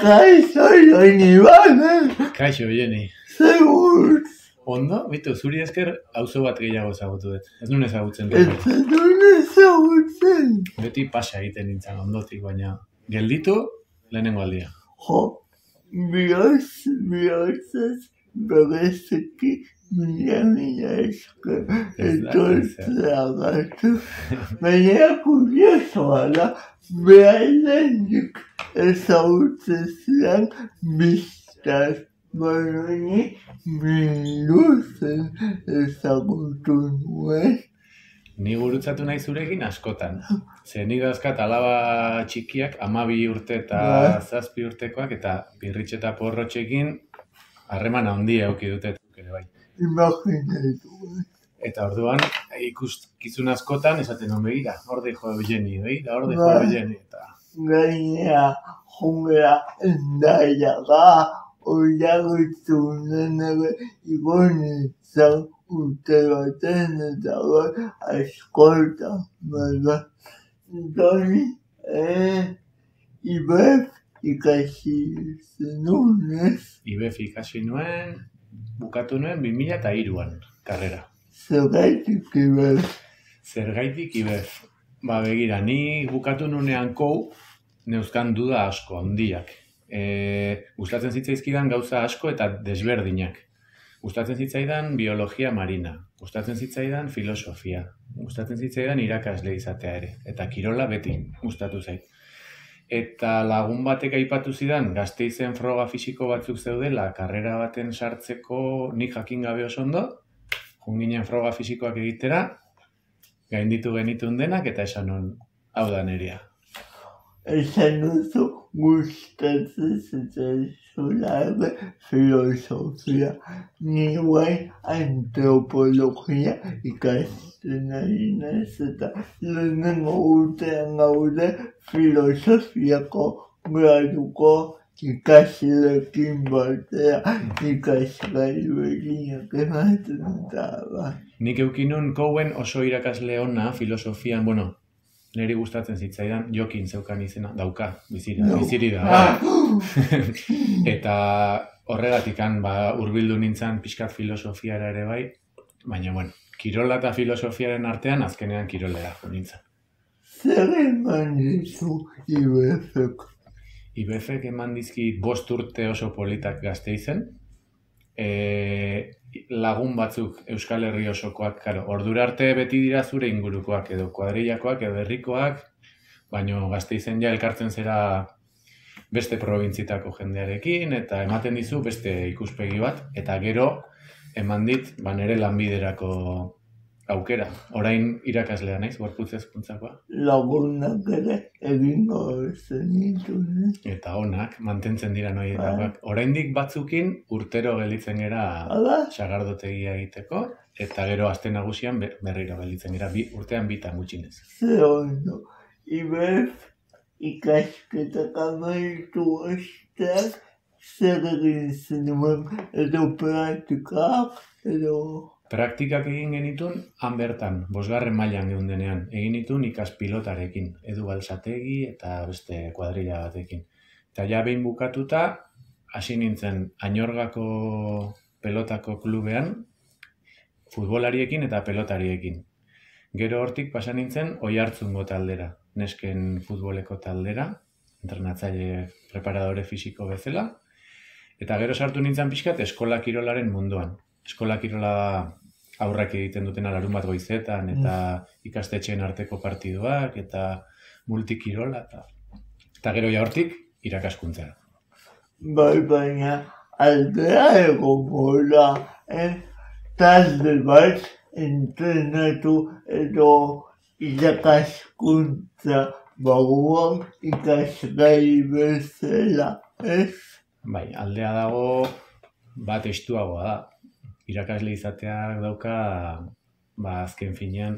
Kaixo, Joni, bane? Kaixo, Joni. Segur. Ondo, bitu, zuri esker auzo bat gehiago ezagutu dut. Ez nuen ezagutzen Ez duen ezagutzen. Beti pasa egiten nintzen ondotik, baina gelditu lehenengo aldia. Jo, bihotzez bereziki mila esker etortzeagatu. Baina kuriosoa da, behailenik ezagutzen zidan biztaz. Baina biluzen ezagutu nuen. Ni gurutzatu nahi zurekin askotan. Ze nik dauzkat alaba txikiak, 12 urte eta 7 urtekoak, eta pirritx eta porrotxekin harreman handia eduki dute ere bai. Imaginatu. Eta orduan, ikuskizun askotan esaten non begira, horde jo Eugeni, begira, horde jo Eugeni. Gainea, jungea endaiaga, oiagutzunen ere igonitzan urte baten eta askolta, bada. Doni, ibef ikasi zenunez. Ibef ikasi nuen, bukatu nuen 2003an, karrera. Zergaitik ibef? Zergaitik ibef? Ba begira, ni bukatu nunean neuzkan duda asko, handiak. Gustatzen zitzaizkidan gauza asko eta desberdinak. Gustatzen zitzaidan biologia marina, gustatzen zitzaidan filosofia, gustatzen zitzaidan irakasle izatea ere, eta kirola beti gustatu zait. Eta lagun batek aipatu zidan, Gasteizen froga fisiko batzuk zeudela, karrera baten sartzeko nik jakin gabe oso ondo, junginen froga fisikoak egitera, gainditu genitun denak, eta esan non, hau da nerea. Esan duzu gustatzen zitzaizula filosofia. Ni guain antropologia ikasten ari naiz eta lehenengo urtean gaude filosofiako graduko ikasleekin batera ikasgai berriak ematen eta bai. Nik eukinun kouen oso irakasle ona filosofian, niri gustatzen zitzaidan, Jokin zeukan izena, dauka, biziri da. Eta horregatikan hurbildu nintzen pixkat filosofiara ere bai, baina kirola eta filosofiaren artean azkenean kirolera nintzen. Zer eman dizu IBF-ek? IBF-ek eman dizkit 5 urte oso politak Gasteizen, lagun batzuk Euskal Herri osokoak, ordura arte beti dira zure ingurukoak, edo kuadrillakoak, edo herrikoak, baina Gasteizen ja elkartzen zera beste probintzitako jendearekin, eta ematen dizu beste ikuspegi bat, eta gero eman dit nere lanbiderako aukera. Orain irakaslea naiz, gorputz hezkuntzakoa. Lagunak ere egingo zenituen. Eta onak, mantentzen dira noietakoak. Oraindik batzukin urtero gelditzen gera sagardotegia egiteko, eta gero aste nagusian berriro gelditzen gera, urtean bitan gutxinez. Ze ondo, IBF ikasketak amaitu ostean, zer egin zenuen edo praktikak, edo... Praktikak egin genitun, han bertan, 5. mailan geundenean, egin nitun ikaspilotarekin, Edu Balsategi eta beste kuadrilla batekin. Eta ja behin bukatuta, hasi nintzen Añorgako pelotako klubean, futbolariekin eta pelotariekin. Gero hortik pasa nintzen Oiartzungo taldera, nesken futboleko taldera, entrenatzaile preparadore fisiko bezala, eta gero sartu nintzen pixkat eskola kirolaren munduan. Eskola kirola aurrak egiten dutena larun bat goizetan, eta ikastetxeen arteko partiduak, eta multikirola, eta gero ja hortik irakaskuntzara. Bai, baina aldea egongo da, talde bat entrenatu edo irakaskuntza barruan ikasgai bezala, ez? Bai, aldea dago bat estuagoa da. Irakasle izateak dauka, azken finean,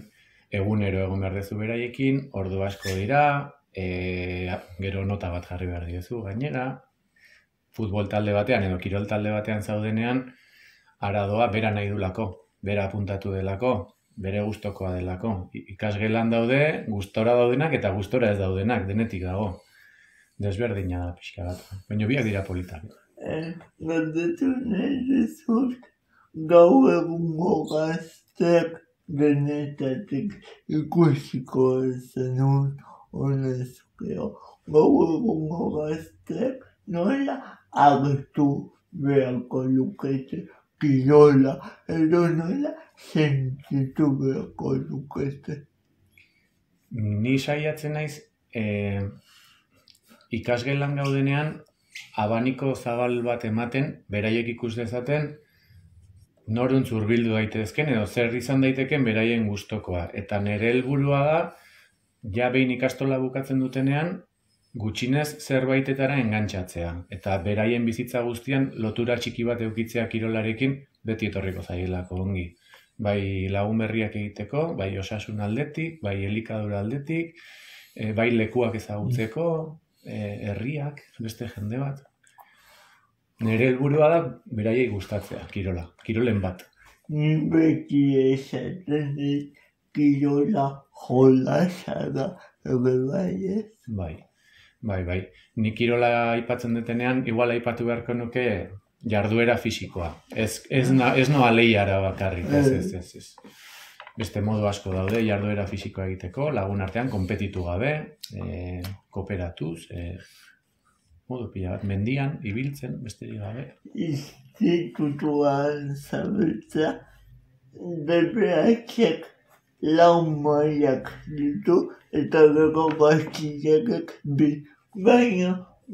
egunero egon behar dezu beraiekin, ordu asko dira, gero nota bat jarri behar diozu gainera, futbol talde batean edo kirol talde batean zaudenean, aradoa bera nahi dulako, bera apuntatu delako, bere gustokoa delako. Ikasgelan daude, gustora daudenak eta gustora ez daudenak, denetik dago. Desberdina da pixka bat. Baina biak dira politak. Galdetu nahi dizut, gaur egungo gazteak denetatik ikusiko zenun honezkeo. Gaur egungo gazteak nola agertu beharko lukete kirola, edo nola sentitu beharko lukete. Ni saiatzen naiz, ikasgelan gaudenean, abaniko zabal bat ematen, beraiek ikus dezaten, noruntz hurbildu daitezken, edo zer izan daiteken beraien gustokoa. Eta nire helburua da, ja behin ikastola bukatzen dutenean, gutxinez zerbaitetara engantzatzea. Eta beraien bizitza guztian lotura txiki bat eukitzea kirolarekin beti etorriko zaielako ongi. Bai lagun berriak egiteko, bai osasun aldetik, bai elikadura aldetik, bai lekuak ezagutzeko, herriak, beste jende bat. Nire helburua da beraiei gustatzea, kirolen bat. Ni beti esaten dit kirola jolasa da, bai ez? Bai. Ni kirola aipatzen detenean, igual aipatu beharko nuke jarduera fisikoa. Ez noa lehiara bakarrik, ez. Beste modu asko daude jarduera fisikoa egiteko, lagun artean, konpetitu gabe, kooperatuz, modu pila bat, mendian, ibiltzen, besterik gabe. Institutuan zabiltza, DBH-ek lau mailak ditu eta gero gaztilekek bi. Baina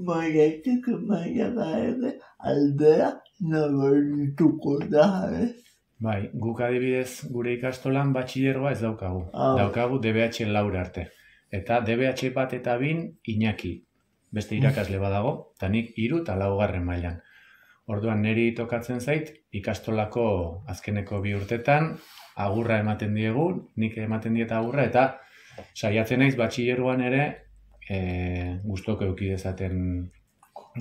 mailatik mailara ere aldea nabarituko da, ez? Bai, guk adibidez gure ikastolan batxilergoa ez daukagu. Daukagu DBH laura arte. Eta DBH bat eta bin Iñaki. Beste irakasle badago, eta nik 3 eta 4 mailan. Orduan niri tokatzen zait, ikastolako azkeneko 2 urtetan, agurra ematen diegu, nik ematen diet agurra, eta saiatzen naiz batxilergoan ere gustoko eduki dezaten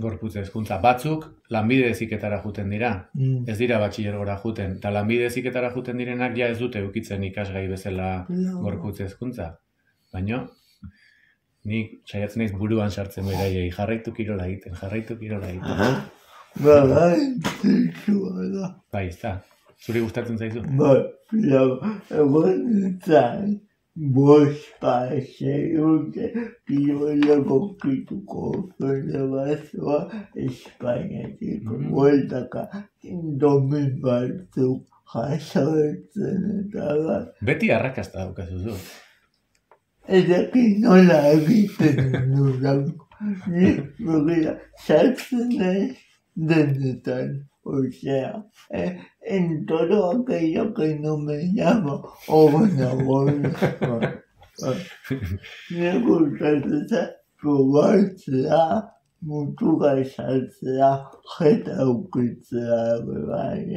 gorputz hezkuntza. Batzuk lanbide heziketara juten dira, ez dira batxilergora juten, eta lanbide heziketara juten direnak ja ez dute edukitzen ikasgai bezala gorputz hezkuntza. Baina nik saiatzen naiz buruan sartzen beraiei, jarraitu kirola egiten. Bai, zitsua da. Bai, ez da. Zuri gustatzen zaizu? Bai, egon nintzen, bospa urte kirola gokituko federazioa Espainiatik bueltaka domin batzuk jasoetzen eta bat. Beti arrakasta daukazu zu. Ezekin nola egiten dudan. Ni begira, sartzen naiz denetan. O sea, en todo aquello que no me llama ona. Me gustatzen probatzea, mutuka saltzea, jeta eukitzea,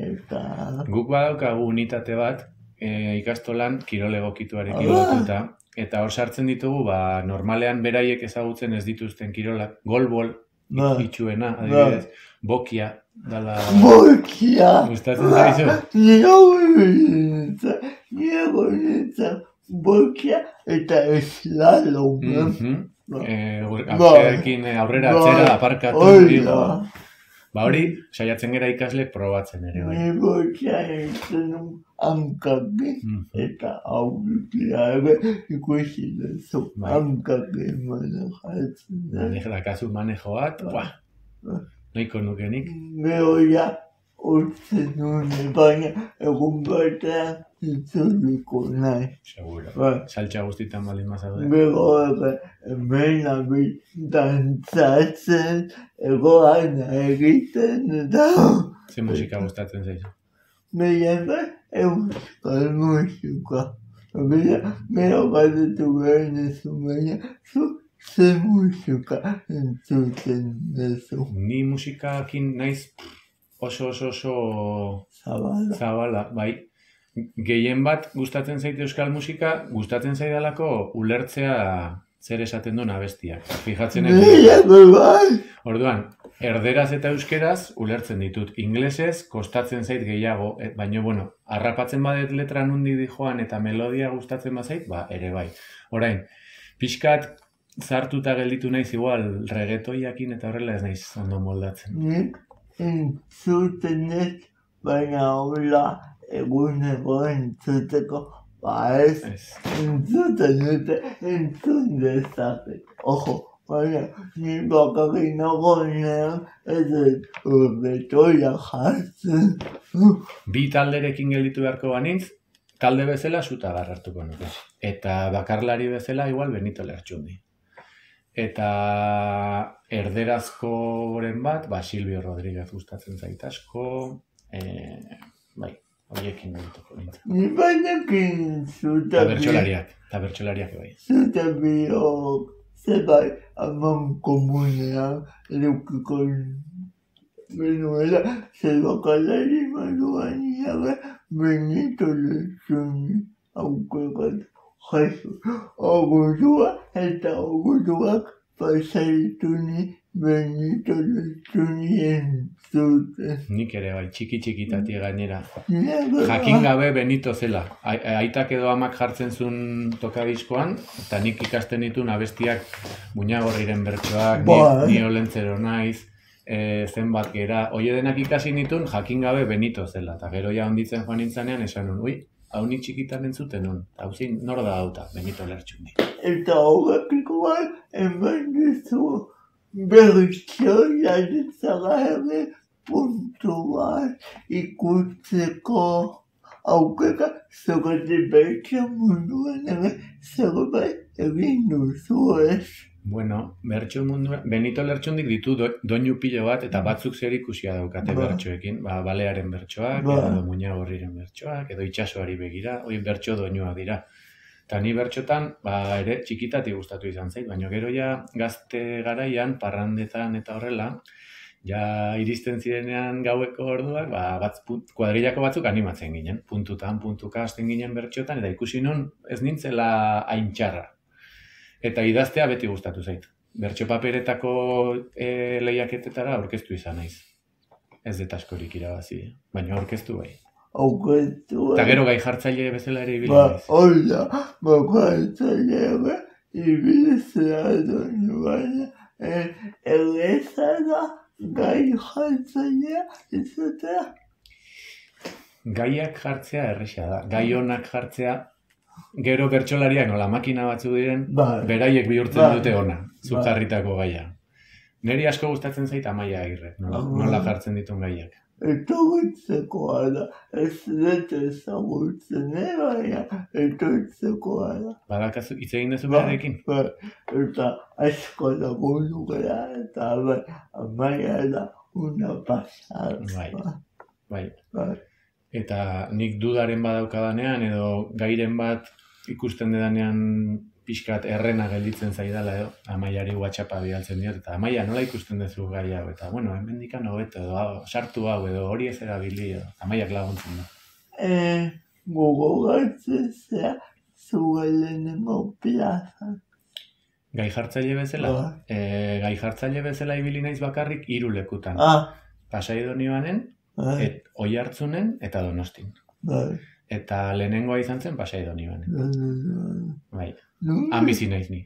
eta... Guk badaukagu unitate bat, ikastolan kirol egokituarekin lotuta, eta hor sartzen ditugu, normalean beraiek ezagutzen ez dituzten kirolak, golbol, itxuena, adibidez, bokia, dala... Bokia! Gustatzen zaizu? Niego nintzen bokia eta slalom. Aurrekin aurrera atzera aparkatu digo. Hori, saiatzen gera ikasle probatzen ere, bai. Ni bokia nintzen hankakin eta aurrikia ere ikusi duzu. Hankakin manejatzen. Dakazu manejo bat, nahiko nukenik. Gehoia urtzen nune, baina egun batean itzuliko nahi. Seguro. Saltxa guztitan baldin mazaude. Gero hemen abil dantzatzen, egoan egiten eta... Ze musika gustatzen zaizu? Gehiago euskal musika. Gero galdetu behar duzu, baina ze musika entzuten duzu. Ni musikakin naiz oso zabala, bai. Gehien bat gustatzen zaite euskal musika, gustatzen zaidalako ulertzea zer esaten duen abestiak. Fijatzen Orduan, erderaz eta euskeraz ulertzen ditut. Inglesez kostatzen zait gehiago, baina, harrapatzen badet letra nundi dijoan eta melodia gustatzen bazait, ere bai. Orain, pixkat zartuta gelditu naiz igual reggaetoiakin eta horrela ez naiz ondo moldatzen. Nik entzuten ez, baina hola eguneko entzuteko, ez entzuten dute entzun dezaket. Ojo, baina ni bakarrik nagoenean ez dut reggaetoia jartzen. Bi talderekin gelditu beharko banintz, talde bezala Sutagar hartuko nuke. Eta bakarlari bezala igual Benito Lertxundi. Eta erderazkoren bat, Silvio Rodríguez gustatzen zait asko, bai, horiekin gelituko nintzen. Ni bainekin Eta bertsolariak bai. Zutabiok zerbait aman komunean edukiko genuela, zer bakalari maduan jabe Benito Lertxundi aukerat jaso. Ogudua eta oguduak pasaitu ni Benito Lertxundi entzuten. Nik ere bai, txiki-txikitatik gainera. Jakin gabe Benito zela. Aitak edo amak jartzen zuen tokadiskoan, eta nik ikasten ditun abestiak Muñagorriren bertsoak, ni olentzero naiz, zenbat gera. Oie denak ikasi nitun, jakin gabe Benito zela. Eta gero ja onditzen joan nintzanean, esan nun, hau nik txikitan entzuten nun. Hau zin, nor da hauta, Benito Lertxundi. Eta horrekiko bai, eman dizu bertsoia ditzara ere puntu bat ikusteko aukera zergatik bertso munduan ere zerbait egin duzu ez. Bueno, bertso munduan, Benito Lertxundik ditu doinu pilo bat eta batzuk zer ikusia daukate bertsoekin. Balearen bertsoak, edo Muñagorriren bertsoak, edo itsasoari begira, hori bertso doinuak dira. Eta ni bertxotan, ere txikitatik gustatu izan zait, baina gero ja gazte garaian, parrandetan eta horrela, ja iristen zirenean gaueko orduak, kuadrillako batzuk animatzen ginen, puntuka hasten ginen bertxotan, eta ikusi nun ez nintzela hain txarra. Eta idaztea beti gustatu zait. Bertso paperetako lehiaketetara aurkeztu izan naiz. Ez dut askorik irabazi, baina aurkeztu bai. Eta gero gai jartzaile bezala ere ibili naiz. Hola, jartzaile ibiltzea duen baina erreza da gai jartzailea izatea. Gaiak jartzea erresa da. Gai onak jartzea, gero bertsolariak nola makina batzu diren, beraiek bihurtzen dute ona, zuk jarritako gaia. Neri asko gustatzen zait Amaia Agirre, nola jartzen ditun gaiak. Etorritzekoa da, ez dut ezagutzen, baina etorritzekoa da. Badakazu, hitz egin duzu berarekin? Eta asko lagundu gara, eta Amaia da una pasada. Bai. Eta nik dudaren badaukadanean, edo gairen bat ikusten dedanean pixkat errena gelditzen zaidala edo, Amaiari WhatsAppa bidaltzen diot, eta Amaia, nola ikusten duzu gai hau, eta hemendikan hobeto edo, sartu hau edo, hori ez erabili edo, Amaiak laguntzen da. Gogoratzen zea zuelenengo plazan. Gai jartzaile bezala? Gai jartzaile bezala ibili naiz bakarrik 3 lekutan. Pasai Donibanen, Oiartzunen eta Donostin. Eta lehenengoa izan zen Pasai Donibanen. Bai. Han bizi naiz ni.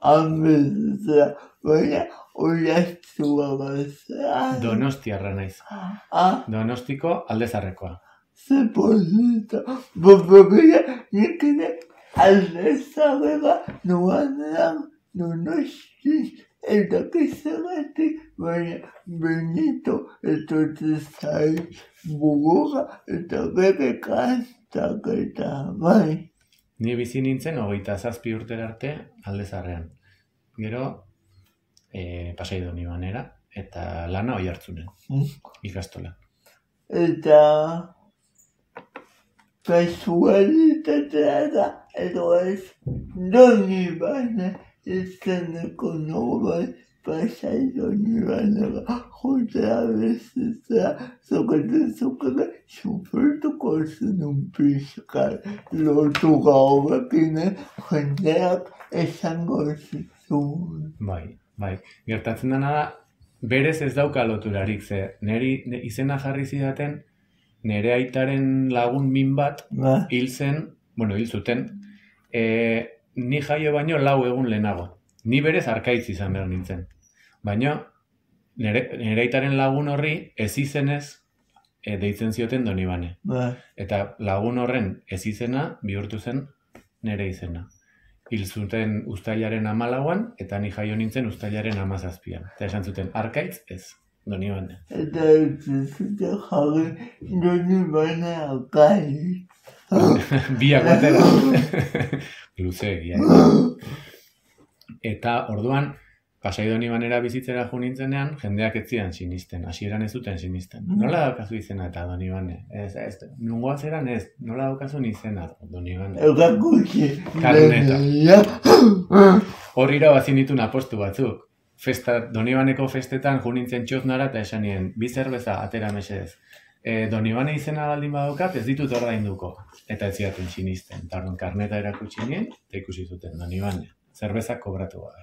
Han bizizea, baina Oiartzua bazea. Donostiarra naiz. Donostiko Aldezarrekoa. Ze polita. Baina nik ere Aldezarrera nuanean Donosti eta kizagatik, baina Benito etortzen zait bugura eta bere kantak eta bai. Ni bizi nintzen 27 urtera arte Aldezarrean. Gero Pasai Donibanera eta lana Oiartzunen, ikastola. Eta kasualitatea da, edo ez Donibane izeneko nobel Pasai Donibanera jotea bezitzea zokatezukera sufrituko zenun pixkal lotu gaurekin jendeak esango zizun. Bai. Gertatzen dena da, berez ez dauka loturarik, ze neri izena jarri zidaten, nere aitaren lagun min bat hil zuten, ni jaio baino 4 egun lehenago. Ni berez arkaitz izan behar nintzen. Baina, nire aitaren lagun horri ez izenez deitzen zioten Donibane. Eta lagun horren ez izena bihurtu zen nire izena. Hil zuten uztailaren 14an, eta ni jaio nintzen uztailaren 17an. Eta esan zuten, arkaitz ez, Donibane. Eta ez zuten jarri Donibane arkaitz. Biak batera. Luzeegia. Eta orduan, Pasai Donibanera bizitzera jo nintzenean, jendeak ez zidan sinisten, hasieran ez zuten sinisten. Nola daukazu izena eta Donibane? Ez, nungoa zeran ez, nola daukazu izena Donibane? Erakutsi. Karneta. Hor irabazi nituen apostu batzuk. Donibaneko festetan jo nintzen txoznara eta esan nien, bi zerbeza atera mesedez. Donibane izena baldin badaukat ez ditut ordainduko. Eta ez zidaten sinisten. Eta orduan karneta erakutsi nien, eta ikusi zuten Donibane. Zerbeza kobratu gabe.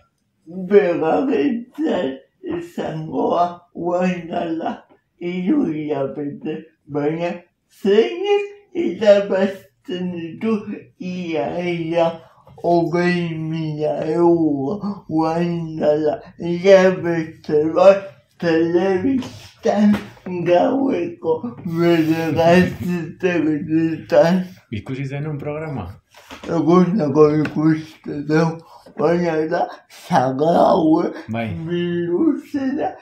Begabetzen izangoa guain dala 3 hilabete, baina zeinek irabazten ditu ia 20.000 euro guain dala hilabete bat telebistan gaueko bederatzitan. Ikusi zenun programa? Eguneko ikuste dugu. Baina da, zagraue, biluzera,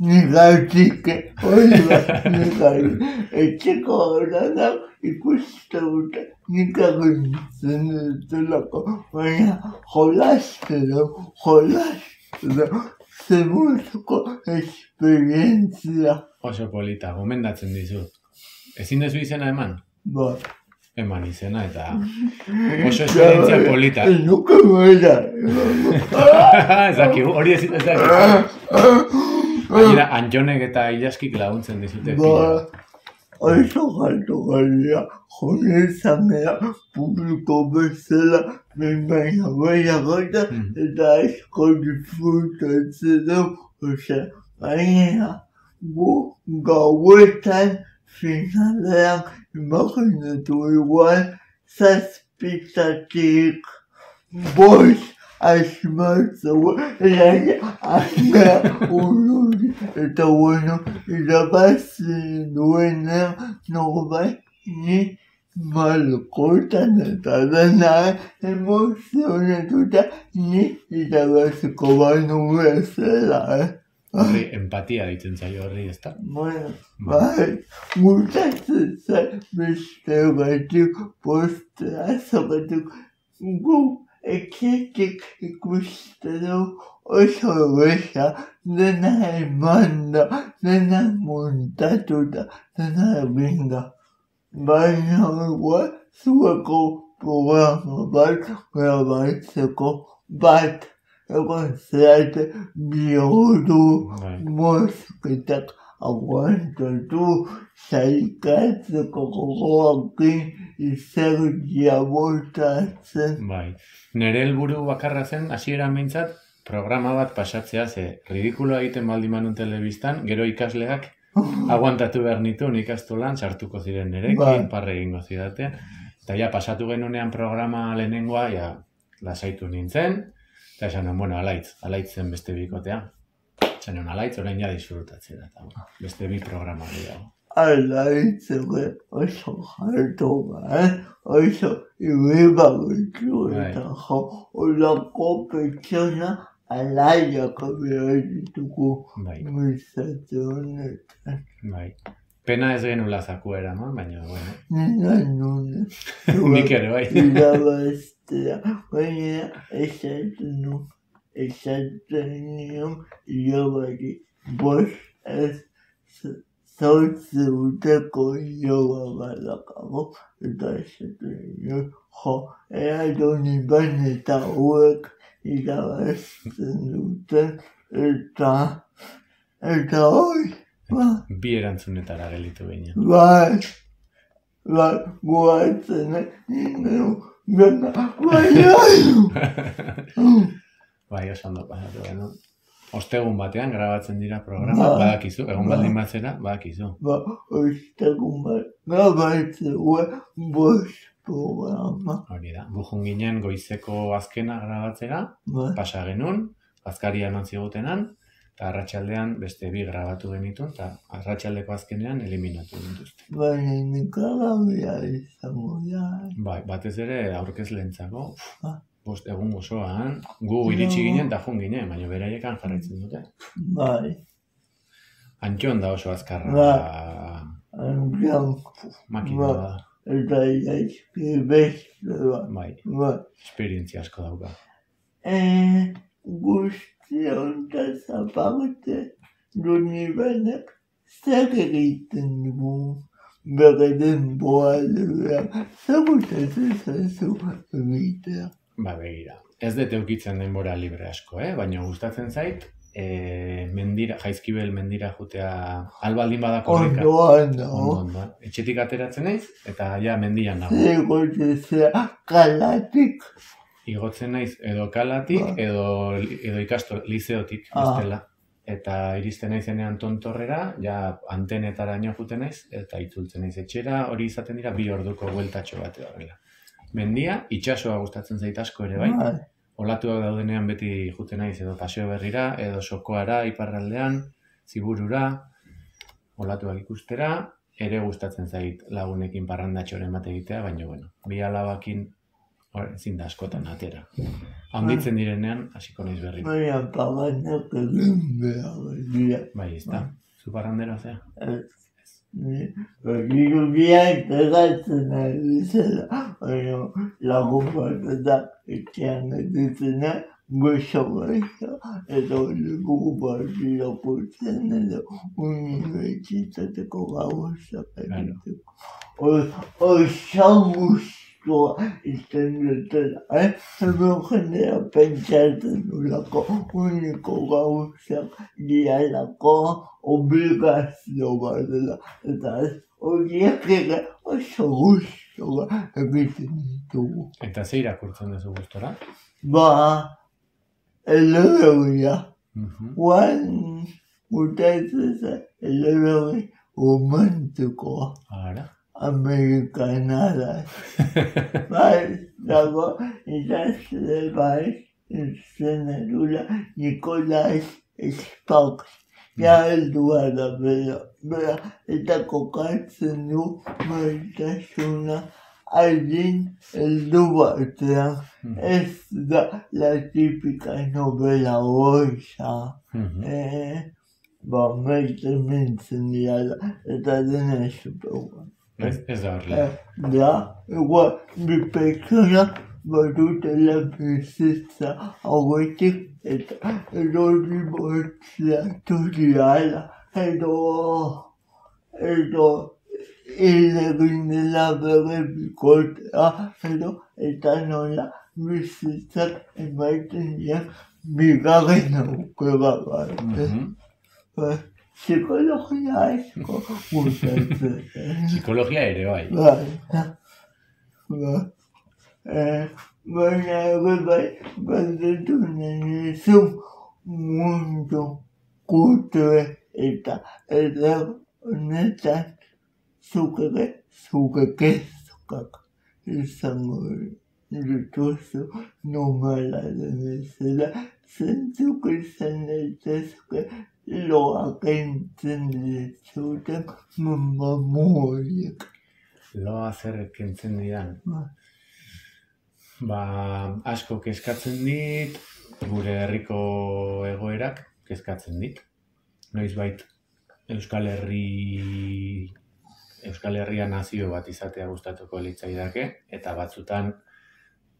nigatike, hori bat nigatike. Etxeko horretan ikuste dute, nikagintzen dutulako, baina jolaste dugu, zemuzko esperientzia. Oso polita, gomendatzen dizut. Ezin dezu izena eman? Ba. Eman izena eta oso esperientzia polita. Nuke bera. Ezaki, hori ez ezaki. Gainera, Antjonek eta Ilaskik laguntzen dizute pila. Oso galtu galia, jonezan gara publiko bezala, baina gota eta asko disfrutatzen dugu. Osea, baina gu gauetan finalean imaginatu igual zazpitatik bost asmatzeu anga ururi eta bueno irabazi duenean norbait ni malkotan eta dena emozionatuta ni irabaziko banu bezala, Horri, empatia ditzen zaio horri, ez da? Bueno, bai, gustatzen zen beste batzuk postea batzuk gu etxetik ikuste dugu oso beza, dena emanda, dena montatuta, dena eginda. Baina igual zueko programa bat grabatzeko bat. Egon zeate bihurtu mosketak aguantatu saikatzeko gogoakin izerdia botatzen. Bai, nire helburu bakarra zen, hasieran behintzat, programa bat pasatzea ze ridikuloa egiten baldin manun telebistan, gero ikasleak aguantatu behar nituen ikastolan, sartuko ziren nerekin, parre egingo zidatea. Eta ja, pasatu genunean programa lehenengoa, ja, lasaitu nintzen. Eta esan, bueno, alaitzen beste bikotea. Esan, alaitz, orain ja disfrutatzen da. Beste bi programa gehiago. Alaitzen oso jartu oso ibebagitu eta jo, olako pertsona alaiak behar ditugu bizatze honetan. Bai. Pena ez genula zakuera, baina, bueno. Nina nune. Nik ere, bai. Irabaztea, baina esaten nion ilobari bost ez zortzi urteko iloba balakago eta esaten nion ea Donibane eta hauek irabazten duten eta hoi. Bi erantzunetara gelitu behin. Bai, guatzen, Bai, oso ondo pasatu geno. Ostegun batean grabatzen dira programa, badakizu, egon baldin batzera, badakizu. Ostegun bat, grabatzen bost programa. Hori da, gujun ginen goizeko azkena grabatzera, Bai, pasa genuen, azkaria non zigutenan, eta arratsaldean beste bi grabatu genituen, eta arratsaldeko azkenean eliminatu dituzte. baina nikagabea izango da. Bai, batez ere aurkezleentzako, Ah. 5 egun osoan, gu iritsi ginen eta jun ginen, baina beraiekan jarraitzen dute. Bai, Antxon da oso azkarra, angian, makina bai. da, Eta jaizki beste bat. bai, Bai. esperientzia asko dauka. Guzti hontaz aparte, Donibanek zer egiten du bere denboralean, zer gustatzen zaizu egitea. Ba, begira. Ez dut eukitzen denbora libre asko, baina gustatzen zait, Jaizkibel mendira jutea albaldin badako horreka. Ondoan dago, Ondoan. Etxetik ateratzen naiz, eta ja mendian nago. zegoetzea kalatik. Igotzen naiz edo kalatik, Ba. edo lizeotik, bestela. Eta iristen naizenean tontorrera, ja antenetaraino juten naiz, eta itzultzen naiz etxera, hori izaten dira 2 orduko bueltatxo bat horrela. Mendia, itsasoa gustatzen zait asko ere bai. Olatuak daudenean beti juten naiz edo Paseo Berrira, edo Sokoara, iparraldean, Ziburura, olatuak ikustera, ere gustatzen zait lagunekin parrandatxoren bat egitea, baina bueno, 2 alabakin ezin da askotan atera. Handitzen direnean, hasiko naiz berri. Baina paganak egin behar dira. Bai, ez da. Zu parrandera zea? Girugiak egatzen ari zela, baina lagun bat eta etxean edizena, gozo gozo, eta leku bat irakurtzen edo unibertsitateko gauzak egiteko. Oso guztua izan dutela, hemen jendea pentsatzen dulako uniko gauzak dialako obligazio bat dela, eta horiek ere oso guztua egiten ditugu. Eta ze irakurtzen duzu gustora? Ba, eleberria. Guan gustatzen eleberri romantikoa. Ara. Amerikanara. Bai, dago, idazle bai, zenadura Nikolai Sparks. Ja, heldua da bera, eta kokatzen du maitasuna aldin heldu batean. Ez da la típica novela hoxa. Ba, maite mintzen dira, eta dena superguan. Ez da horrela. Da, igual, bi pertsona badutela bizitza hauetik eta erori bortzeatu diala, edo egin dela bere bikotea, eta nola bizitzak emaiten dira bigarren aukera bat. Psikologia asko gustatzen. Psikologia ere bai. Baina ere bai, galdetu nahi zu mundu kulture eta eder honetan zuk kezkak izango dituzu normala den bezala, zentzuk izan daitezke loak entzen ditzuten mamuoiek. Loa zer kentzen didan. Ba, asko kezkatzen dit, gure herriko egoerak kezkatzen dit. Noizbait Euskal Herria nazio bat izatea gustatuko litzaidake, eta batzutan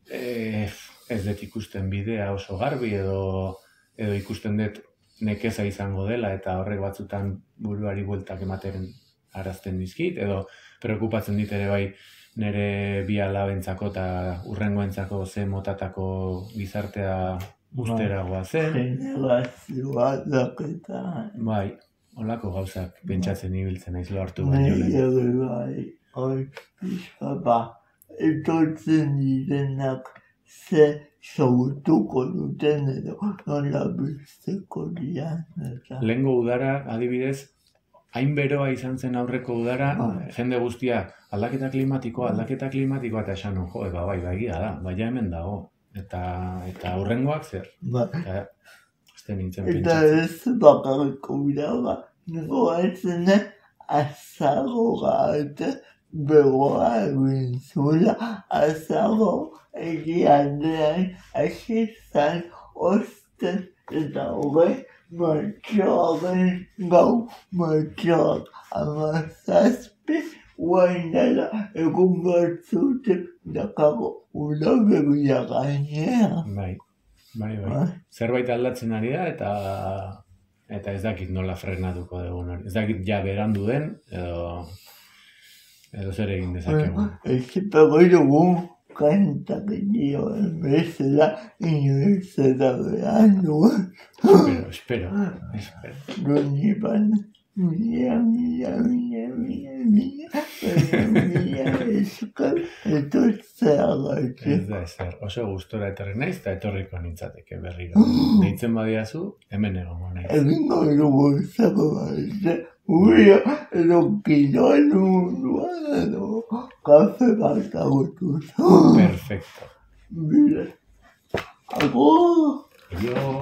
ez dut ikusten bidea oso garbi edo ikusten dut nekeza izango dela eta horrek batzutan buruari bueltak ematen arazten dizkit, edo preokupatzen dit ere bai nire 2 alabentzako eta hurrengoentzako ze motatako gizartea usteragoa zen. Generazioa daketa. Bai, holako gauzak pentsatzen ibiltzen naiz lortu baino lehen. Bai, hori pixka etortzen direnak ze sortuko duten edo nola bizteko dian. Lehengo udara, adibidez, hain beroa izan zen aurreko udara, jende guztia aldaketa klimatikoa, eta esan jo, bai, egia da, baina hemen dago. Eta hurrengoak zer. Eta ez nintzen pentsatzen. Eta ez bakarriko bira, goatzen azagoa eta begoa egin zuela, azago egialdean asizan osten eta hogei martxoaren gau martxoak amazazpi guainala egun batzutek dakago una begia gainea. Bai. Zerbait aldatzen ari da eta ez dakit nola frenatuko dugun hori. Ez dakit ja berandu den edo zer egin dezakegu. Ezipego dugu kantak dioen bezala inoiz eta behan duen. Espero. Donipan mila eskal etortzeagatik. Ez da ezer, oso gustora etorri naiz eta etorriko nintzateke berriro. Deitzen badiazu, hemen egongo naiz. Egingo dugu zako baize, uria edo kiroan munduan edo kafe bat agotu. Perfecto. Mira, agur! Yo...